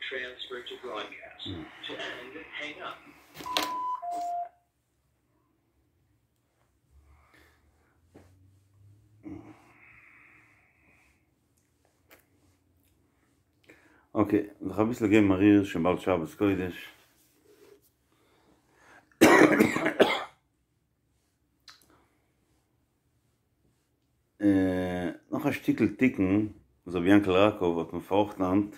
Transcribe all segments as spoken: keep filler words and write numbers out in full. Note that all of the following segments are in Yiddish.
Okay, זיך אביסל געבן א ריר, שוין באלד שבת קודש. נאך א שטיקל תיקון וואס רבי יענקל ראקוב האט מיר פארראכטן היינט.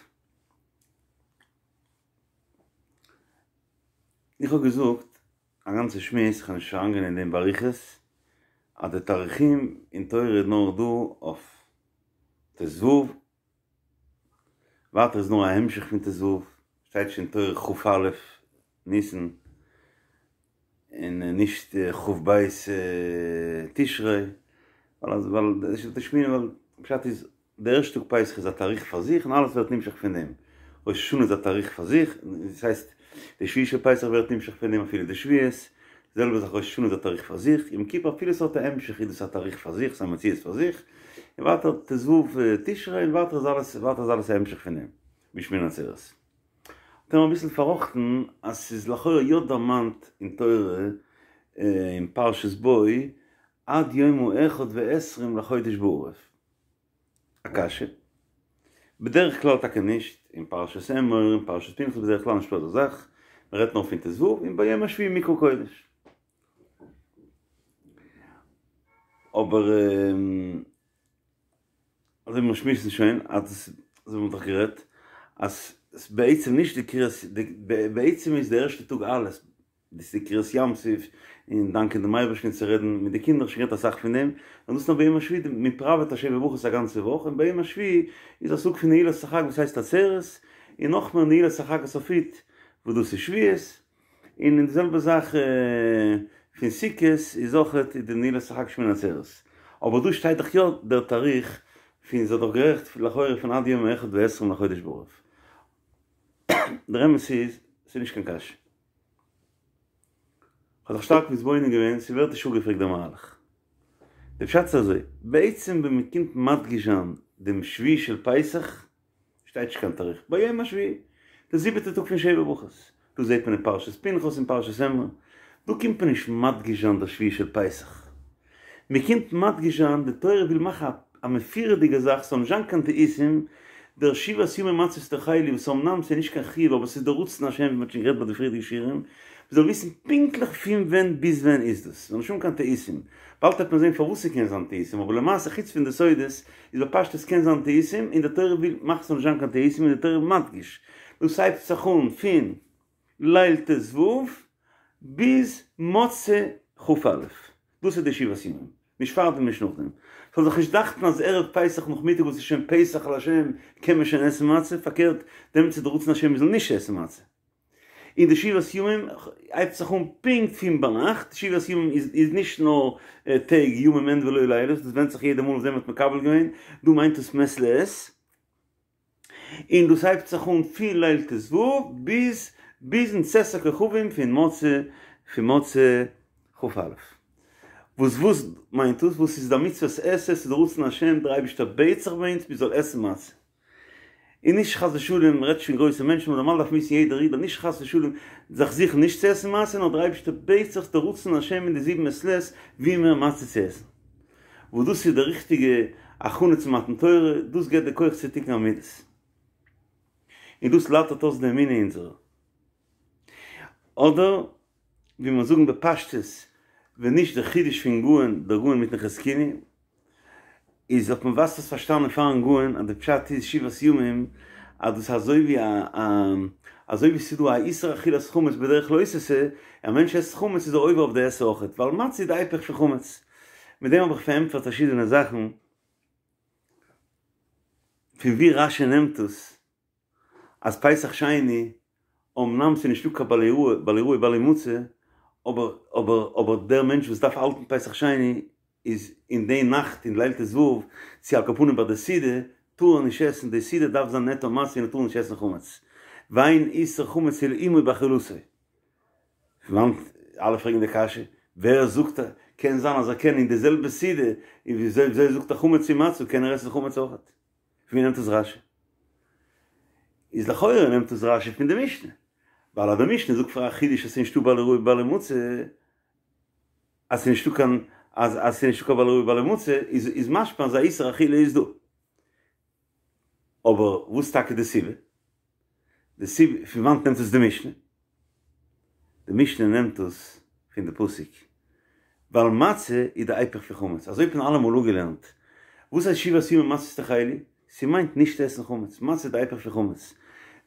איך האב געזאגט א גאנצע שמועס, איך וועל נישט אריינגיין אין דעם באריכות, אז די תאריכים אין תורה איז נאר דא אויף ט"ו, ווייטער איז נאר א המשך פון ט"ו, שטייט שוין תורה כ"א ניסן, און נישט כ"ב תשרי, ווייל ווייל פשט איז די ערשטע טאג פסח איז א תאריך פאר זיך און אלעס ווערט נמשך פון דעם, ראש השנה איז א תאריך פאר זיך, דאס הייסט די שביעי של פסח ווערט נמשך פון דעם אפילו די שבועות, די זעלבע זאך ראש השנה איז א תאריך פאר זיך, יום כיפור אפילו עס האט א המשך איז דאס א תאריך פאר זיך, ס'איז א מציאות פאר זיך, און ווייטער ט"ו תשרי און ווייטער איז אלעס ווייטער איז אלעס א המשך פון דעם, ביז שמיני עצרת. האט ער מיר אביסל פארראכטן אז ס'איז לכאורה יא דערמאנט אין תורה אין פרשת בא עד יום האחד ועשרים לחודש בערב. א קשיא. בדרך כלל טאקע נישט, אין פרשת אמור און פרשת פנחס בדרך כלל נישטא אזא זאך, מען רעדט נאר פון ט"ו און ביום השביעי מקרא קודש. אבער אזוי ווי מיר שמועסן שוין, אז אזוי ווי מ'האט דאך גערעדט, אז בעצם נישט די קריאת, בעצם איז די ערשטע טאג אלעס, דאס איז די קריעת ים סוף, און דאנקען דעם אייבערשטן צו רעדן מיט די קינדער, שוין גערעדט אסאך פון דעם, און דאס איז נאר ביום השביעי, מען פראוועט א שבע ברכות א גאנצע וואך, און ביום השביעי איז א סוג פון נעילת החג וואס הייסט עצרת, און נאכמער נעילת החג הסופית וואס דאס איז שבועות, און די זעלבע זאך פון סוכות איז אויכעט די נעילת החג שמיני עצרת, אבער דא שטייט דאך יא דער תאריך פון, זי האט דאך גערעכט לכאורה פון עד יום האחד ועשרים לחודש בערב. דער אמת איז, ס'איז נישט קיין קשיא. כ'האב זיך שטארק מתבונן געווען, ס'ווערט נישט אפגעפרעגט דער מהלך. די פשט איז אזוי, בעצם ווען מ'קומט מדגיש זיין דעם שביעי של פסח, שטייט נישט קיין תאריך, ביום השביעי, די זיבעטע טאג פון שבע ברכות, דאס זעט מען אין פרשת פנחס און פרשת אמור, דא קומט מען נישט מדגיש זיין דער שביעי של פסח, מען קומט מדגיש זיין, די תורה וויל מאכן א מפורה'דיגע זאך, ס'זאל נישט זיין קיין טעותים, דער שבעת ימים מצות תאכלו וואס אמנם ס'איז נישט קיין חיוב אבער ס'איז דער רצון השם ווי מ'האט שוין גערעדט ביי די פריערדיגע שיעורים, מ'זאל וויסן פונקטליך פון ווען ביז ווען איז דאס, ס'זאל נישט האבן קיין טעותים, באלד וועט מען זען פארוואס ס'קען זיין טעותים, אבער למעשה חוץ פון די סודות איז בפשטות קען זיין טעותים, און די תורה וויל מאכן ס'זאל נישט זיין קיין טעותים און די תורה מדגיש, דאס הייבט זיך אן פון ליל ט"ו ביז מוצאי כ"א, דאס איז די שבעת ימים, נישט פארדעם נישט נאכדעם, ס'זאל זיך נישט דאכטן אז ערב פסח נאכמיטאג וואס איז שוין פסח לה' קען מען שוין עסן מצה, פארקערט דעמאלטס איז די רצון השם מ'זאל נישט עסן מצה. און די שבעת ימים הייבט זיך אן פונקט פון ביינאכט, שבעת ימים איז נישט נאר טעג ימים הן ולא לילות, דאס ווענדט זיך יעדע מאל וואס ווען מ'האט מקבל געווען, דא מיינט עס מעת לעת, און דאס הייבט זיך אן פון ליל ט"ו ביז ביזן צאת הכוכבים פון מוצאי פון מוצאי כ"א. וואס וואס מיינט דאס? וואס איז די מצוות עשה? ס'איז די רצון השם, דער אייבערשטער בעט זיך ביי אונז מיר זאל עסן מצה. און נישט חס ושלום, מ'רעדט נישט פון גרויסע מענטשן, אבער נארמאל דארף מען וויסן יעדער איד אז נישט חס ושלום זיך זוכן נישט צו עסן מצה, נאר דער אייבערשטער בעט זיך די רצון השם אין די זיבן מעת לעת ווי מער מצה צו עסן. וואס דאס איז די ריכטיגע הכנה צו מתן תורה, דאס געבט די כח צו תיקון המידות. און דאס לייטערט אויס די אמונה אונזערע. אדער ווי מיר זאגן בפשטות, ווען נישט דער חידוש פון גאון, דער גאון מיטן חזקוני, איז האט מען וואס עס פארשטאנען פארן גאון אז די פשט איז שבעת ימים אז דאס איז אזוי ווי א אזוי ווי ס'איז דא א איסור אכילת חמץ בדרך לא תעשה, א מענטש עסט חמץ איז ער עובר אויף די עשה אויכעט, ווייל מצה איז די היפך פון חמץ. מיט דעם האב איך פארענטפערט פארשידענע זאכן פון ווי רשי נעמט עס אז פסח שני אמנם ס'איז נישטא קיין בל יראה בל יראה בל ימצא אבער אבער אבער דער מענטש וואס דארף האלטן פסח שני איז אין די נאכט אין ליל ט"ו צו על כל פנים ביי די סעודה טאר ער נישט עסן די סעודה דארף זיין נטו מצה און ער טאר נישט עסן חמץ ואין איסור חמץ אלא עמו באכילתו. פון וואנט אלע פרעגן די קשיא ווער זאגט קען זיין אז ער קען אין די זעלבע סעודה און וויאזוי וויאזוי זאגט ער חמץ און מצה קען ער עסן חמץ אויכעט פון ווי נעמט עס רשי? איז לכאורה נעמט עס רשי פון די משנה, ווייל אז די משנה זאגט פאר א חידוש אז ס'איז נישטא בל יראה ובל ימצא, אז ס'איז נישטא קיין אז אז ס'איז נישטא קיין בל יראה ובל ימצא, איז איז משמע אז א איסור אכילה איז דא. אבער וואס טאקע די סיבה? די סיבה פון וואנט נעמט עס די משנה? די משנה נעמט עס פון די פסוק, ווייל מצה איז די היפך פון חמץ, אזוי האט מען אלעמאל אפגעלערנט, וואס הייסט שבעת ימים מצות תאכלו? ס'מיינט נישט עסן חמץ, מצה איז די היפך פון חמץ.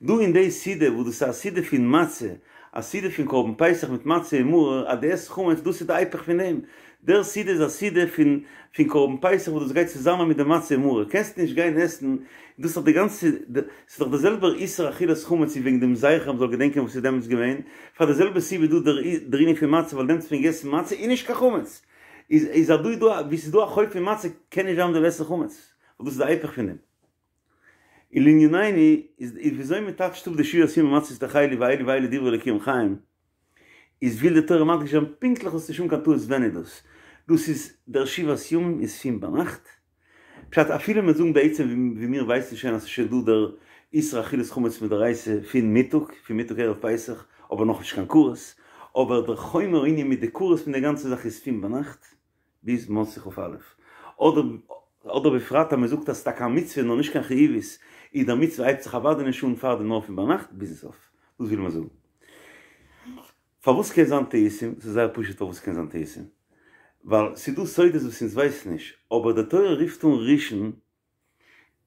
דא אין די סעודה וואס דאס איז א סעודה פון מצה, א סעודה פון קרבן פסח מיט מצה און מרור, אז דו עסט חמץ דאס איז די היפך פון דעם, דער סעודה איז א סעודה פון פון קרבן פסח וואס דאס גייט צוזאמען מיט די מצה און מרור, קענסט נישט גיין עסן, דאס איז דאך די גאנצע, ס'איז דאך דער זעלבער איסור אכילת חמץ איז וועגן דעם זכר מ'זאל געדענקען וואס איז דעמאלטס געווען, פאר די זעלבע סיבה איז דא דער ענין פון מצה ווייל דעמאלטס האט מען געגעסן מצה און נישט קיין חמץ, איז איז אז דא איז דא וואו ס'איז דא א חוב פון מצה קען נישט זיין מ'זאל עסן חמץ, ווייל דאס איז די היפך פון דעם. און לענינינו איז וויאזוי מ'טייטשט אפ די שבעת ימים מצות תאכלו ואלו ואלו דברי אלוקים חיים, איז וויל די תורה מדגיש זיין פונקטליך זאלסט נישט האבן קיין טעות ווען איז דאס, דאס איז דער שבעת ימים איז פון ביינאכט, פשט אפילו מיר זאגן בעצם ווי מיר ווייסן שוין אז ס'איז שוין דא דער איסור אכילת חמץ מדאורייתא פון מיטאג, פון מיטאג ערב פסח, אבער נאכנישט קיין כרת, אבער דער חומר הענין מיט די כרת פון די גאנצע זאך איז פון ביינאכט ביז מוצאי כ"א, אדער אדער בפרט אז מ'זאגט אז ס'איז טאקע א מצוה נאר נישט קיין חיובית, איז דער מצוה הייבט זיך אוודאי נישט אן פארדעם נאר פון ביינאכט ביזן סוף, דאס וויל מען זאגן. פארוואס קען זיין טעותים? ס'איז זייער פשוט פארוואס ס'קען זיין טעותים, ווייל ס'איז דא סודות וואס אונז ווייסן נישט, אבער די תורה רופט אן ראשון,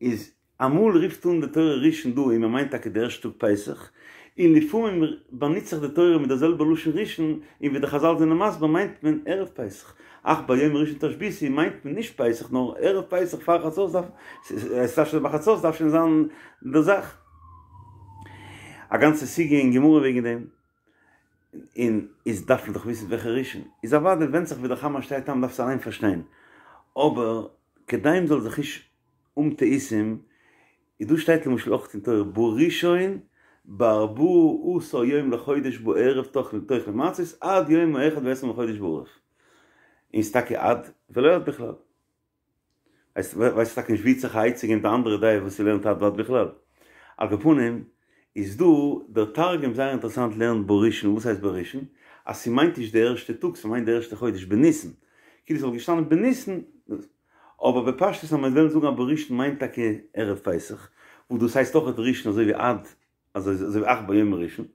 איז אמאל רופט אן די תורה ראשון דא און מען מיינט טאקע די ערשטע טאג פסח, און לפעמים באנוצט זיך די תורה מיט די זעלבע לשון ראשון, און ווי די חזל זענען מסביר מיינט מען ערב פסח, אך ביום הראשון תשביתו מיינט מען נישט פסח נאר ערב פסח פאר חצות דארף, עס דארף שוין ביי חצות דארף שוין זיין די זאך. א גאנצע סוגיא אין גמרא וועגן דעם, און איז דארף מען דאך וויסן וועלכע ראשון, איז אוודאי ווענדט זיך ווי דער חמר שטייט איין מ'דארף עס אליין פארשטיין, אבער כדי מ'זאל זיך נישט האבן טעותים, איז דא שטייט למשל אויך אין תורה בראשון בארבעה עשר יום לחודש בערב תאכלו מצות עד יום האחד ועשרים לחודש בערב, און ס'איז טאקע עד ולא עד בכלל. ווייסט ווייסט טאקע נישט ווי זיך א עצה געבן די אנדערע דעה וואס ס'לערנט עד ועד בכלל. על כל פנים איז דא דער תרגום זייער אינטערעסאנט לערנט בראשון וואס הייסט בראשון? אז ס'מיינט נישט די ערשטע טאג ס'מיינט די ערשטע חודש בניסן כאילו ס'וואלט געשטאנען בניסן אבער בפשטות אז מ'וועט וועלן זאגן אז בראשון מיינט טאקע ערב פסח וואס דאס הייסט אויכעט ראשון אזוי ווי עד אזוי ווי אך ביום הראשון,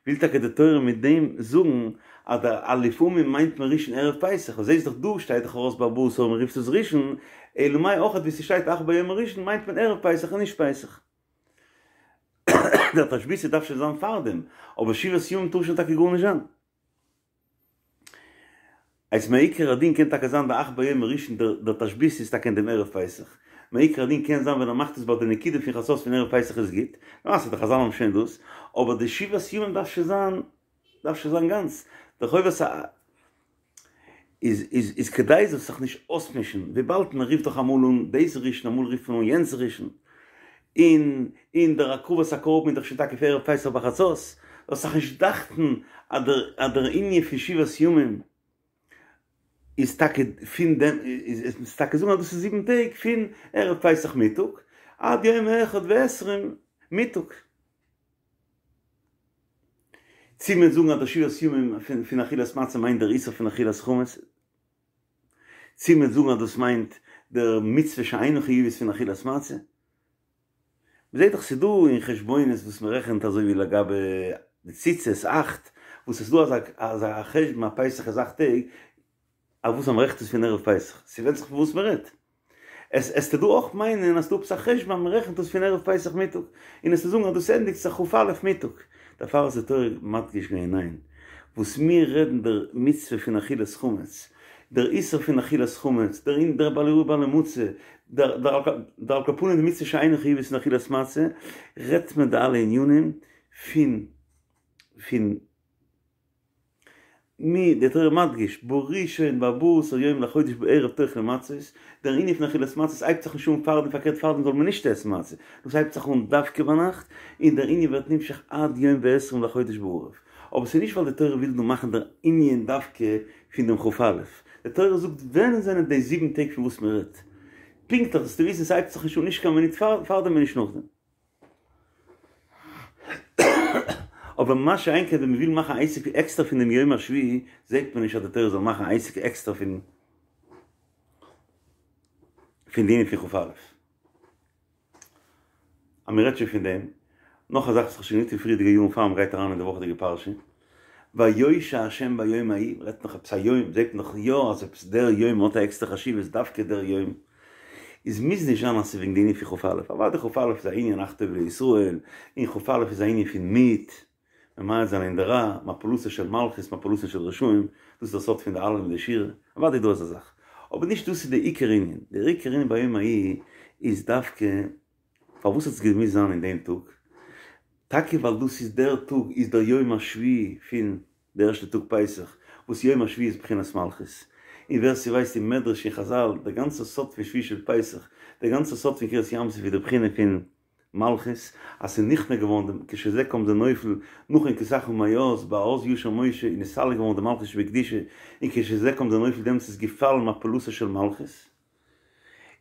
וויל טאקע די תורה מיט דעם זאגן אז דער לפעמים מיינט מען ראשון ערב פסח, און זעסט דאך דא שטייט דאך ארויס בארבעה עשר מען רופט עס ראשון, אלא מאי אויכעט ווי ס'שטייט אך ביום הראשון מיינט מען ערב פסח און נישט פסח. דער תשביתו דארף שוין זיין פארדעם, אבער שבעת ימים טאר שוין טאקע גארנישט זיין. אז מעיקר הדין קען טאקע זיין די אך ביום הראשון דער תשביתו איז טאקע אין דעם ערב פסח, מעיקר הדין קען זיין ווען ער מאכט עס ביי די נקודה פון חצות פון ערב פסח איז גוט, למעשה די חזל האבן שוין דאס, אבער די שבעת ימים דארף שוין זיין דארף שוין זיין גאנץ, די חובת ה איז איז איז כדי זאלסט זיך נישט אויסמישן, וויבאלד מען רופט דאך אמאל אן דאס ראשון אמאל רופט מען אן יענץ ראשון, און און דער הקרבת הקרבן איז דאך שוין טאקע פאר ערב פסח בחצות, זאלסט זיך נישט דאכטן אז דער אז דער ענין פון שבעת ימים איז טאקע פון דעם איז איז טאקע זאגן אז דאס איז זיבן טעג פון ערב פסח מיטאג עד יום אחד ועשרים מיטאג. צו מ'וועט זאגן אז דער שבעת ימים פון פון אכילת מצה מיינט דער איסור פון אכילת חמץ, צו מ'וועט זאגן אז דאס מיינט דער מצוה שאינה חיובית פון אכילת מצה. מ'זעט דאך ס'איז דא אין חשבונות וואס מ'רעכנט אזוי ווי לגבי די ציצית אכט, וואס איז דא אזא אזא חשבון אז פסח איז אכט טעג, אויף וואס אז מ'רעכנט עס פון ערב פסח, ס'ווענדט זיך פון וואס מ'רעדט. עס עסטו דא אויך מיינען אז ס'דא עפעס א חשבון אז מ'רעכנט עס פון ערב פסח מיטאג, און עסטו זאגן אז דאס ענדיגט זיך כ"א מיטאג. דערפאר איז די תורה מדגיש געווען ניין, וואס מיר רעדן דער מצוה פון אכילת חמץ, דער איסור פון אכילת חמץ, דער אין דער בל יראה ובל ימצא, דער דער על כל פנים די מצוה שאינה חיובית פון אכילת מצה, רעדט מען די אלע ענינים פון פון מי, די תורה מדגיש, בראשון בארבעה עשר יום לחודש בערב תאכלו מצות, דער ענין פון אכילת מצות הייבט זיך נישט אן פארדעם, פארקערט פארדעם זאל מען נישט עסן מצה, דאס הייבט זיך אן דווקא ביינאכט, און דער ענין ווערט נמשך עד יום ועשרים לחודש בערב. אבער ס'איז נישט ווייל די תורה וויל דא מאכן דער ענין דווקא פון דעם כ"א, די תורה זאגט ווען זענען די זיבן טעג פון וואס מען רעדט, פונקטליך זאלסטו וויסן ס'הייבט זיך נישט אן נישט קיין מינוט פארדעם און נישט נאכדעם. אבער מה שאין כן ווען מ'וויל מאכן א עסק עקסטער פון דעם יום השביעי, זעט מען נישט אז די תורה זאל מאכן א עסק עקסטער פון פון די ענין פון כ"א. אז מ'רעדט שוין פון דעם, נאך א זאך וואס איך האב שוין געזאגט אין פריערדיגע יארן פאר מ'גייט אריין אין די וואכעדיגע פרשה, ויושע ה' ביום ההוא, מ'רעדט נאך עפעס א יום, זעט מען דאך יא אז עפעס דער יום האט א עקסטער חשיבות, דווקא דער יום, איז מוז נישט זיין אז ס'איז וועגן די ענין פון כ"א, אוודאי כ"א איז א ענין אך טוב לישראל, און כ"א איז א ענין פון מיעוט, ממעט זיין אין די רע, מפלתו של מלכות, מפלתן של רשעים, דאס איז דער סוד פון די הלל און די שירה, אוודאי איז דא אזא זאך, אבער נישט דאס איז די עיקר ענין, דער עיקר ענין ביום ההוא איז דווקא פארוואס האט עס געמוזט זיין אין דעם טאג, טאקע ווייל דאס איז דער טאג איז דער יום השביעי פון די ערשטע טאג פסח, וואס יום השביעי איז בחינת מלכות, און ווער ס'ווייסט אין מדרש און חזל, דער גאנצער סוד פון שביעי של פסח, דער גאנצער סוד פון קריעת ים סוף איז די בחינה פון מלכות, אז ס'איז נכנע געווארן דעם כשזה קם זה נופל, נכון כי סך ומאז, באז ישיר משה איז נסתלק געווארן די מלכות שבקדושה, און כשזה קם זה נופל דעמאלטס איז געפאלן מפלתה של מלכות.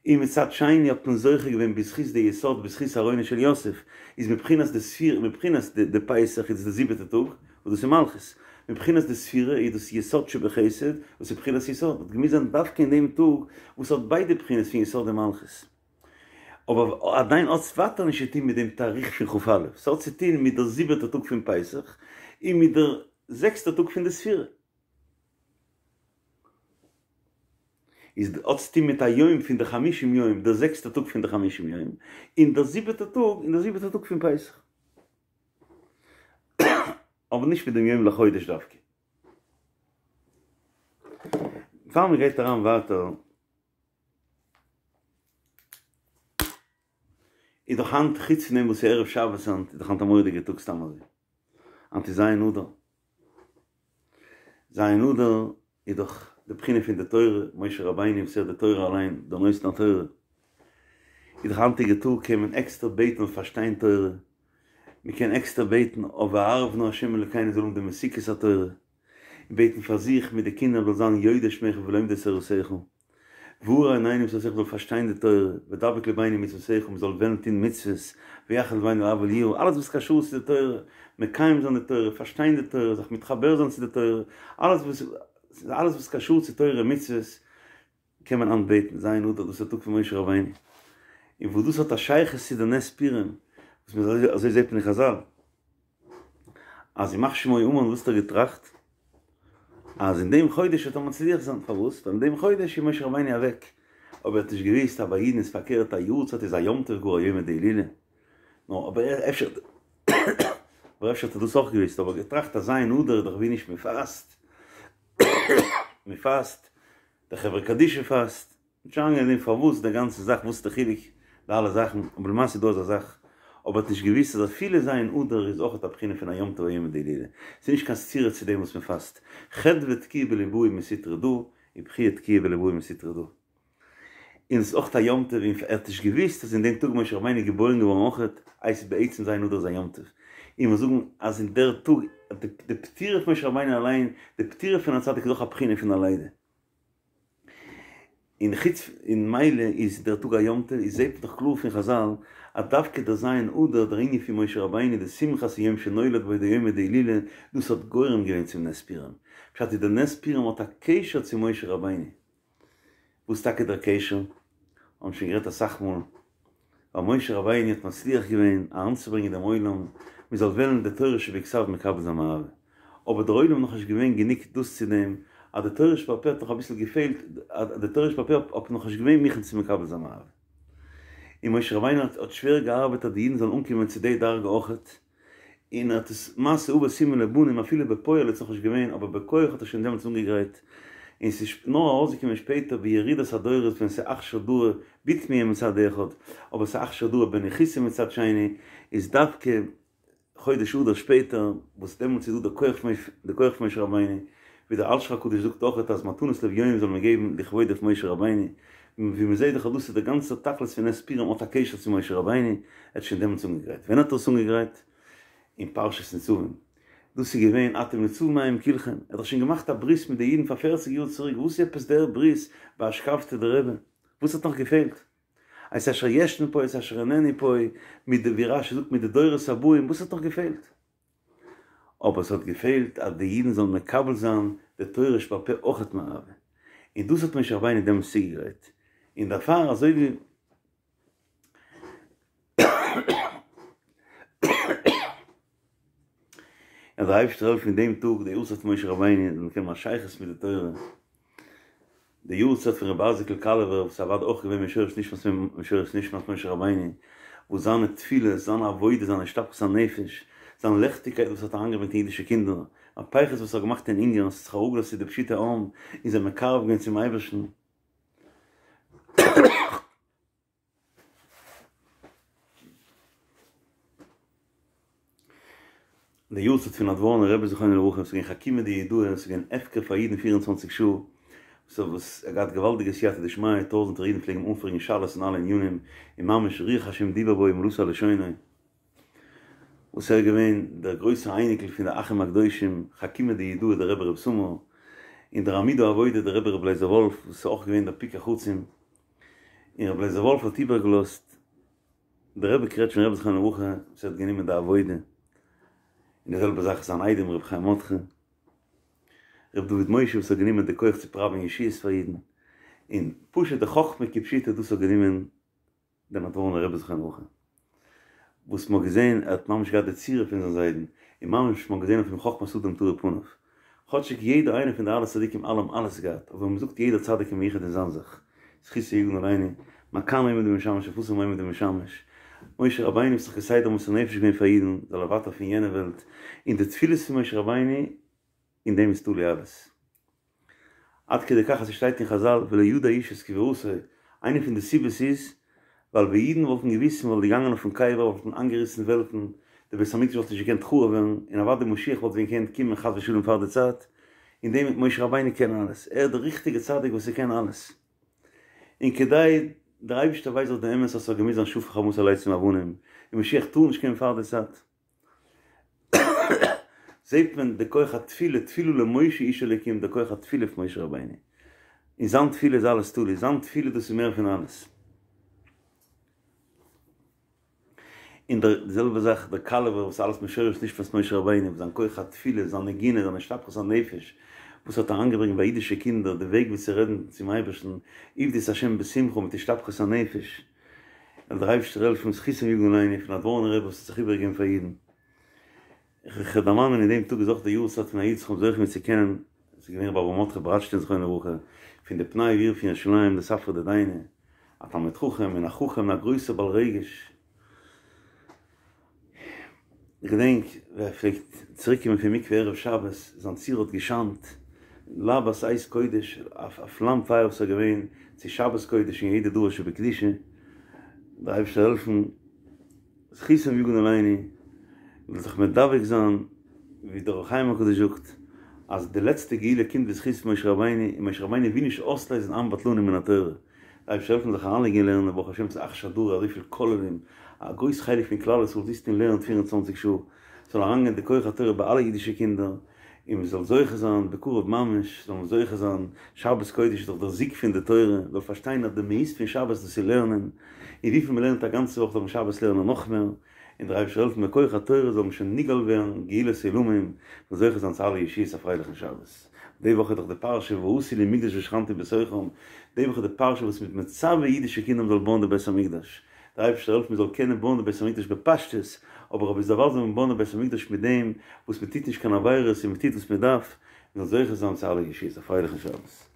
און מצד שני האט מען זוכה געווען בזכות די יסוד בזכות ארונו של יוסף, איז מבחינת די ספירה מבחינת די פסח איז די זיבעטע טאג וואס דאס איז מלכות, מבחינת די ספירה איז דאס יסוד שבחסד וואס איז בחינת יסוד, האט געמוזט זיין דווקא אין דעם טאג וואס האט ביידע בחינות פון יסוד און מלכות. אבער עדיין האט עס ווייטער נישט צו טון מיט דעם תאריך פון כ"א, ס'האט צו טון מיט דער זיבעטע טאג פון פסח און מיט דער זעקסטע טאג פון די ספירה. איז האט צו טון מיט א יום פון די חמישים יום, דער זעקסטע טאג פון די חמישים יום, און דער זיבעטע טאג, און דער זיבעטע טאג פון פסח. אבער נישט מיט דעם יום לחודש דווקא. פאר מען גייט אריין ווייטער, איז דאך היינט, חוץ פון דעם וואס ס'איז ערב שבת היינט, איז דאך היינט א מורא'דיגע טאג סתם אזוי. היינט איז ז' אדר. ז' אדר איז דאך די בחינה פון די תורה, משה רבינו וואס ער איז די תורה אליין, דער נותן התורה. איז דאך היינטיגע טאג קען מען עקסטער בעטן אויף פארשטיין תורה, מען קען עקסטער בעטן אויף והערב נא ה' אלוקינו זאל האבן די מתיקות התורה, און בעטן פאר זיך מיט די קינדער זאל זיין יודעי שמך ולומדי תורתך. והאר עינינו בתורתך מ'זאל פארשטיין די תורה, ודבק לבנו במצוותיך מ'זאל וועלן טון מצוות, ויחד לבנו לאהבה וליראה, אלעס וואס קשור צו די תורה, מקיים זיין די תורה, פארשטיין די תורה, זיך מתחבר זיין צו די תורה, אלעס וואס אלעס וואס קשור צו תורה און מצוות, קען מען היינט בעטן, ז' אדר דאס איז די טאג פון משה רבינו, און וואס דאס האט א שייכות צו די נס פורים, וואס מ'זעט אזוי זעט מען אין חזל. אז ימח שמו המן וואס האט ער געטראכט? אז אין דעם חודש וועט ער מצליח זיין, פארוואס? ווייל אין דעם חודש איז משה רבינו אוועק, אבער ער האט נישט געוואוסט אז ביי אידן איז פארקערט א יארצייט איז א יום טוב גאר א יומא דהילולא, נו אבער אפשר אבער אפשר האט ער דאס אויך געוואוסט, אבער געטראכט אז ז' אדר איז דאך ווי נישט מען פאסט, מען פאסט, די חברה קדישא פאסט, נישט אריינגיין אין דעם פארוואס די גאנצע זאך וואס איז די חילוק די אלע זאכן, אבער למעשה איז דא אזא זאך, אבער האט נישט געוואוסט אז אפילו ז' אדר איז אויך א בחינה פון א יום טוב א יומא דהילולא, ס'איז נישט קיין סתירה צו דעם וואס מען פאסט, חדוה תקיעא בליבאי מסטרא דא, ובכיה תקיעא בליבאי מסטרא דא. און עס איז אויך א יום טוב, און ער האט נישט געוואוסט אז אין דעם טאג משה רבינו איז געבוירן געווארן אויך, הייסט בעצם ז' אדר איז א יום טוב, און מיר זאגן אז אין דער טאג, די פטירה פון משה רבינו אליין, די פטירה פון א צדיק איז אויך א בחינה פון א לידה. און חוץ און מילא איז דער טאג א יום טוב, איז זעהט מען דאך קלאר פון חזל אז דווקא דער ז' אדר, דער ענין פון משה רבינו, די שמחת היום שנולד בו די יומא דהילולא, דאס האט גורם געווען צום נס פורים. פשט איז דער נס פורים האט א קשר צו משה רבינו. וואס טאקע דער קשר? האבן שוין גערעדט אסאך מאל. ווייל משה רבינו האט מצליח געווען אריינצוברענגען דעם עולם מען זאל וועלן די תורה שבכתב מקבל זיין מאהבה, אבער דער עולם איז נאכנישט געווען גענוג דאס צו דעם אז די תורה שבעל פה האט נאך אביסל געפעלט, אז די תורה שבעל פה האט נאכנישט געווען מוכן צו מקבל זיין מאהבה. און משה רבינו האט שווער געארבעט אז די אידן זאלן אנקומען צו די דרגה אויכעט, און ער האט עס מעשה אבות סימן לבנים אפילו בפועל איז נאכנישט געווען אבער בכח האט ער שוין דעמאלטס אנגעגרייט און ס'איז נאר ארויסגעקומען שפעטער בירידת הדורות ווען ס'איז אכשר דרא בתמיה מצד אחד אבער ס'איז אכשר דרא בניחותא מצד שני איז דווקא חודש אדר שפעטער וואס דעמאלטס איז דא די כח פון די כח פון משה רבינו ווי דער אלשיך הקדוש זאגט אויכעט אז מתנות לאביונים זאל מען געבן לכבוד אויף משה רבינו ווי מ'זעט דאך אז דאס איז דער גאנצער תכלית פון נס פורים האט א קשר צו משה רבינו, ער האט שוין דעמאלטס אנגעגרייט. ווען האט ער עס אנגעגרייט? אין פרשת נצבים. דאס איז געווען אתם נצבים היום כולכם, ער האט דאך שוין געמאכט א ברית מיט די אידן פאר פערציג יאר צוריק, וואס איז עפעס דער ברית באשכבתא דרבי? וואס האט נאך געפעלט? את אשר ישנו פה את אשר איננו פה, מיט די ווי רשי זאגט מיט די דורות הבאים, וואס האט נאך געפעלט? אבער עס האט געפעלט אז די אידן זאלן מקבל זיין די תורה שבעל פה אויכעט מאהבה, און דאס האט משה רבינו דעמאלטס צוגעגרייט, און דערפאר אזוי ווי אז דער אייבערשטער זאל העלפן אין דעם טאג די יארצייט פון משה רבינו זאל מען קענען האבן א שייכות מיט די תורה, די יארצייט פון רבי אייזיק'ל קאלעווער וואס איז אוודאי אויך געווען משורש נשמת משורש נשמת משה רבינו, וואס זיינע תפילות, זיין עבודה, זיין השתפכות הנפש, זיין לעכטיגקייט וואס האט אריינגעברענגט אין אידישע קינדער, מהפכות וואס ער האט געמאכט אין אונגארן, עס האט זיך אראפגעלאזט צו די פשוטי עם און זיי מקרב געווען צום אייבערשטן. די יארצייט פון נאדווארנער רבי זכרונו לברכה ס'איז געווען חכימא דיהודאי ס'איז געווען הפקר פאר אידן פֿיר און צוואַנציק שעה וואס ער האט געהאט געוואלדיגע סייעתא דשמיא טויזענטער אידן פלעגן אים אנפרעגן שאלות אין אלע ענינים און ממש רוח השם דיבר בו ומלאתו על לשונו וואס ער איז געווען דער גרויסער אייניקל פון די אחים הקדושים חכימא דיהודאי דער רבי ר' סמא און דער עמוד העבודה דער רבי ר' לייזער וואלף וואס איז אויך געווען דער פיקח עצום און רבי לייזער וואלף האט איבערגעלאזט דער רבי קרעטשניפער רבי זכרונו לברכה וואס האט גענומען די עבודה, און די זעלבע זאך זיין איידעם רבי חיים מרדכי, רבי דוד משה וואס האט גענומען די כח צו פראווען ישועות פאר אידן, און פשוט די חכמה כפשוטו דאס האט גענומען דער נאדווארנער רבי זכרונו לברכה. וואס מ'האט געזען, ער האט ממש געהאט די צורה פון זיין זיידן, און ממש מ'האט געזען אויף אים חכמת אדם תאיר פניו. כאטשיג יעדער איינער פון די אלע צדיקים אלע האבן אלעס געהאט, אבער מ'זאגט יעדער צדיק איז מיוחד אין זיין זאך. זכותו יגן עלינו, מה כאן עומד ומשמש אף התם עומד ומשמש. משה רבינו האט זיך כסדר מוסר נפש געווען פאר אידן, זאל ער ווייטער פון יענע וועלט, און די תפילות פון משה רבינו, אין דעם איז תלוי אלעס. עד כדי כך אז ס'שטייט אין חזל ולא ידע איש את קבורתו, איינע פון די סיבות איז ווייל ווען אידן וואלטן געוואוסט מ'וואלט געגאנגען אויפן קבר וואלט מען איינגעריסן וועלטן, די בית המקדש וואלט נישט געקענט חרוב ווערן, און אוודאי משיח וואלט ווען געקענט קומען חס ושלום פאר די צייט, אין דעם משה רבינו קען אלעס, ער איז דער ריכטיגער צדיק וואס ער קען אלעס. און כדי דער אייבערשטער ווייסט דאך די אמת אז ס'האט געמוזט זיין שפך חמתו על עצים ואבנים, און משיח טאר נישט קומען פאר די צייט. זעט מען די כח התפילה, תפילה למשה איש אלוקים, די כח התפילה פון משה רבינו, אין זיין תפילה איז אלעס תלוי, זיין תפילה דאס איז מער פון אלעס. און די זעלבע זאך דער קאלעווער וואס אלעס משורש נשמת משה רבינו, זיין כח התפילה, זיין נגינה, זיין השתפכות הנפש, וואס האט אריינגעברענגט ביי אידישע קינדער די וועג ווי צו רעדן צום אייבערשטן, עבדו את ה' בשמחה מיט השתפכות הנפש. זאל דער אייבערשטער העלפן זכותו יגן עלינו פון נאדווארנער רבי וואס האט זיך איבערגעגעבן פאר אידן. איך וועל דערמאנען אין דעם טאג איז אויך די יארצייט פון א איד וואס כ'האב זוכה געווען צו קענען, עס איז געווען רבי אברהם מרדכי בראדשטיין זכרונו לברכה, פון די פני העיר פון ירושלים די ספרא דדיינא, א תלמיד חכם און א חכם און א גרויסער בעל רגש. איך געדענק ווי ער פלעגט צוריק קומען פון מקווה ערב שבת, זיין צורה האט געשיינט להבת אש קודש, א פלאם פייער וואס איז געווען צו שבת קודש און יעדע דבר שבקדושה, דער אייבערשטער זאל העלפן זכותו יגן עלינו, מ'זאל זיך מדבק זיין ווי דער אור החיים הקדוש זאגט אז די לעצטע גאולה קומט בזכות משה רבינו, און משה רבינו וויל נישט אויסלייזן עם בטלנים מן התורה. אייבערשטער העלפן זיך אריינלייגן אין לערנען, ברוך השם ס'איז אכשר דרא אזויפיל כוללים, א גרויס חלק פון כלל ישראל זיצט און לערנט פֿיר און צוואַנציק שעה, ס'זאל אריינגיין די כח התורה ביי אלע אידישע קינדער, און מ'זאל זוכה זיין בקרוב ממש, זאל מען זוכה זיין, שבת קודש איז דאך דער זיג פון די תורה, מ'זאל פארשטיין אז די מהות פון שבת דאס איז לערנען, און וויפיל מ'לערנט א גאנצע וואך זאל מען שבת לערנען נאך מער, און דער אייבערשטער העלפן בכח התורה זאל מען שוין נגאל ווערן גאולת עולמים, מ'זאל זוכה זיין צו אלע ישועות א פרייליכן שבת. די וואך איז דאך די פרשה ועשו לי מקדש ושכנתי בתוכם, די וואך איז די פרשה וואס מ'איז מצווה אידישע קינדער מ'זאל בויען די בית המקדש, דער אייבערשטער העלפן מ'זאל קענען בויען די בית המקדש בפשטות, אבער אביסדערווייל זאל מען בויען די בית המקדש מיט דעם וואס מ'טוט נישט קיין עבירות און מ'טוט וואס מ'דארף, מ'זאל זוכה זיין צו אלע ישועות, א פרייליכן שבת.